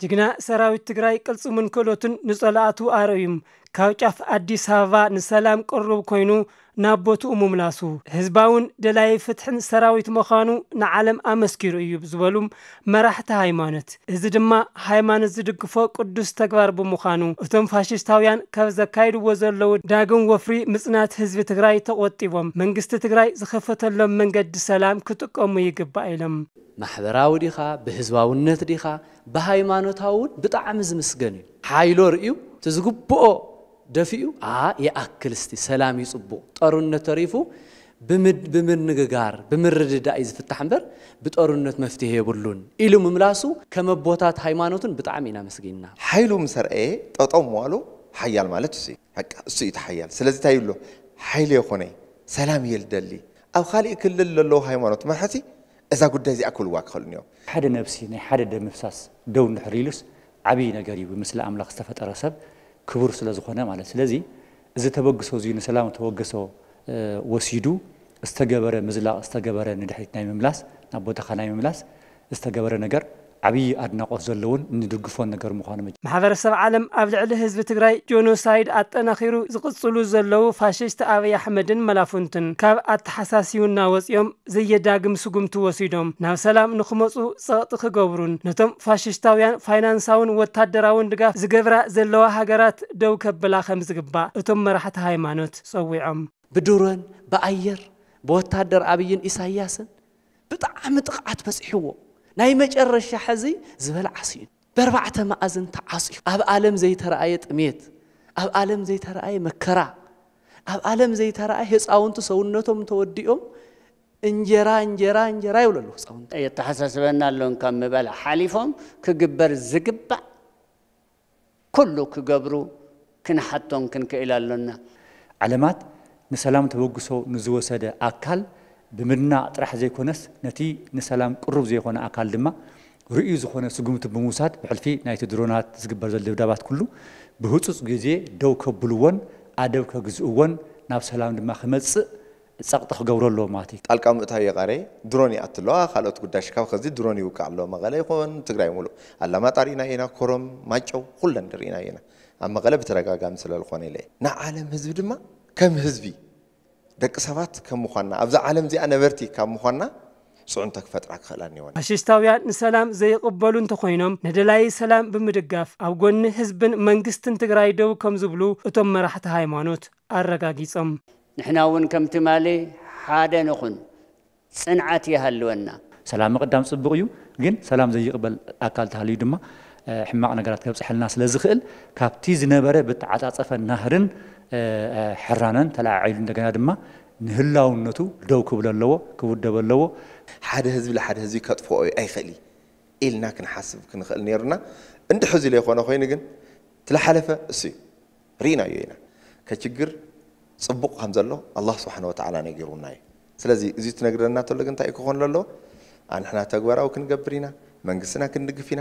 ጅግና ሰራዊት ትግራይ ቅልጽሙን ክእለቱን ንጸላእቱ ኣርእዩም ካብ ጫፍ ኣዲስ ኣበባ ንሰላም ቅሩብ ኮይኑ ናብ ቦትኡ ምምላሱ፣ ህዝባውን ደላይ ፍትሕን ሰራዊት ምዃኑ ንዓለም ኣመስኪሩ እዩ ዝበሉም መራሕቲ ሃይማኖት፣ እዚ ድማ ሃይማኖት ዝድግፎ ቅዱስ ተግባር ብምዃኑ፣ እቶም ፋሽስታውያን ካብ ዘካይድዎ ዘለዉ ዳግም ወፍሪ ምጽናት ህዝቢ ትግራይ ተቖጢቦም መንግስቲ ትግራይ ዝኸፈተሎም መንገዲ ሰላም ክጥቀሙ ይግባእ ኢሎም። ማሕበራዊ ዲኻ፣ ብህዝባውነት ዲኻ፣ ብሃይማኖታዊ እውን ብጣዕሚ ዝምስገን እዩ። ሓይሎ ርእዩ፣ እቲ ዝግብኦ ደፊኡ፣ ኣ፣ ይኣክል እስቲ፣ ሰላም እዩ ጽቡቕ። ጦርነት ተሪፉ ብምድ-፣ ብምንግጋር፣ ብምርድዳእ እዩ ዝፍታሕ እምበር፣ ብጦርነት መፍትሄ የብሉን ኢሉ ምምላሱ፣ ከም ኣቦታት ሃይማኖትን ብጣዕሚ ኢና መስጊንና። ሓይሉ ምስ ኣርኣየ ጠጠው ምባሉ ሓያል ማለት እሱ እዩ። በቃ እሱ እዩ እቲ ሓያል። ስለዚ እንታይ ይብሎ? ሓይሊ የኾነይ፣ ሰላም እየ ልደሊ። ኣብ ካሊእ ክልል ለለዉ ሃይማኖት መራሕቲ እዛ ጉዳይ እዚኣ ክብልዋ ክኽእሉ እዮም። ሓደ ነብሲ ናይ ሓደ ደም ምፍሳስ ደው እንድሕር ኢሉስ ዓብዪ ነገር እዩ። ብምስሊ ኣምላኽ ዝተፈጠረ ሰብ ክቡር ስለ ዝኾነ ማለት። ስለዚ እዚ ተበግሶ እዚ ንሰላም ተበግሶ፣ እ፣ ወሲዱ ዝተገበረ ምዝላቕ፣ ዝተገበረ ንድሕሪት ናይ ምምላስ፣ ናብ ቦታኻ ናይ ምምላስ ዝተገበረ ነገር ዓብዪ ኣድናቖት ዘለዎን ንድግፎን ነገር ምዃኑ መ- ማሕበረሰብ ዓለም ኣብ ልዕሊ ህዝቢ ትግራይ ጆኖሳይድ ኣጠናኺሩ ዝቕጽሉ ዘለዉ ፋሽስት ኣብይ ኣሕመድን መላፉንትን ካብ ኣተሓሳሲውና ወፂኦም ዘየዳግም ስጉምቲ ወሲዶም ናብ ሰላም ንኽመፁ ጸቕጢ ክገብሩን ነቶም ፋሽስታውያን ፋይናንሳውን ወታደራውን ድጋፍ ዝገብራ ዘለዋ ሃገራት ደው ከብላ ከም ዝግባእ እቶም መራሕቲ ሃይማኖት ጸዊዖም። ብድሮን ብኣየር ብወታደር ኣብይን ኢሳያስን ብጣዕሚ ጥቕዓት በፂሕዎ፣ ናይ መጨረሻ ሕዚ ዝበልዓ ስኢኑ፣ በርባዕተ መኣዝን ተዓፅዩ፣ ኣብ ዓለም ዘይተረኣየ ጥሜት፣ ኣብ ዓለም ዘይተረኣየ መከራ፣ ኣብ ዓለም ዘይተረኣየ ህፃውንቲ ሰውነቶም ተወዲኦም እንጀራ እንጀራ እንጀራ ይብሉ ኣለዉ ህፃውንቲ። የተሓሳስበና ኣሎን ካብ ምባል ሓሊፎም ክግበር ዝግባእ ኩሉ ክገብሩ ክንሓቶም ክንክእል ኣሎና። ዓለማት ንሰላም ተበግሶ ንዝወሰደ ኣካል ብምድናቕ ጥራሕ ዘይኮነስ፣ ነቲ ንሰላም ቅሩብ ዘይኮነ ኣካል ድማ ርእዩ ዝኾነ ስጉምቲ ብምውሳድ፣ ብሕልፊ ናይቲ ድሮናት ዝግበር ዘሎ ድብዳባት ኩሉ ብህጹጽ ግዜ ደው ከብልዎን ኣደብ ከግዝእዎን ናብ ሰላም ድማ ክመጽእ ጸቕጢ ክገብሩ ኣለዎም ማለት እዩ። ጣልቃ ምእታው የቓረየ፣ ድሮን ይኣቱ ኣለዋ፣ ካልኦት ጉዳይ ሽካብ ከዚ ድሮን ይውቃዕ ኣሎ፣ መቐለ ይኹን ትግራይ ሙሉእ። ኣላማጣ ርኢናዮ ኢና፣ ኮረም፣ ማይጨው፣ ኩለን ርኢናዮ ኢና። ኣብ መቐለ ብተደጋጋሚ ስለ ዝኾነ ኢለ እየ። ንዓለም ህዝቢ ድማ ከም ህዝቢ፣ ደቂ ሰባት ከም ምዃንና፣ ኣብዛ ዓለም እዚኣ ነበርቲ ካብ ምዃንና፣ ጽዕንቶ ክፈጥራ ክኽእላ እኒወን። ፋሽስታውያን ንሰላም ዘይቕበሉ እንተኾይኖም፣ ንደላዪ ሰላም ብምድጋፍ ኣብ ጎኒ ህዝብን መንግስትን ትግራይ ደው ከም ዝብሉ እቶም መራሕቲ ሃይማኖት ኣረጋጊጾም። ንሕና እውን ከም ትማሊ ሓደ ንኹን፣ ጽንዓት ይሃልወና። ሰላም ምቕዳም ጽቡቕ እዩ፣ ግን ሰላም ዘይቕበል ኣካል ተሃልዩ ድማ፣ እ፣ ሕማቕ ነገራት ከብጽሐልና ስለ ዝኽእል፣ ካብቲ ዝነበረ ብተዓጻጸፈ ናህርን፣ እ፣ እ፣ ሕራነን ተለዓዒሉ እንደገና ድማ ንህላውነቱ ደው ክብል ኣለዎ፣ ክውደብ ኣለዎ። ሓደ ህዝቢ ንሓደ ህዝቢ ከጥፍኦ ኣይኽእል እዩ ኢልና ክንሓስብ ክንኽእል ነይሩና። እንድሕዚ ዘይኮነ ኮይኑ ግን፣ ትለሓለፈ እሱ እዩ። ርኢናዮ ኢና። ከችግር ጽቡቕ ከም ዘሎ ኣላህ ስብሓነ ወተዓላ ነጊሩና እዩ። ስለዚ እዚ ትነግረና ተሎ ግን እንታይ እዩ ክኾን ዘለዎ? ኣንሕና ተግባራዊ ክንገብር ኢና፣ መንግስትና ክንድግፍ ኢና።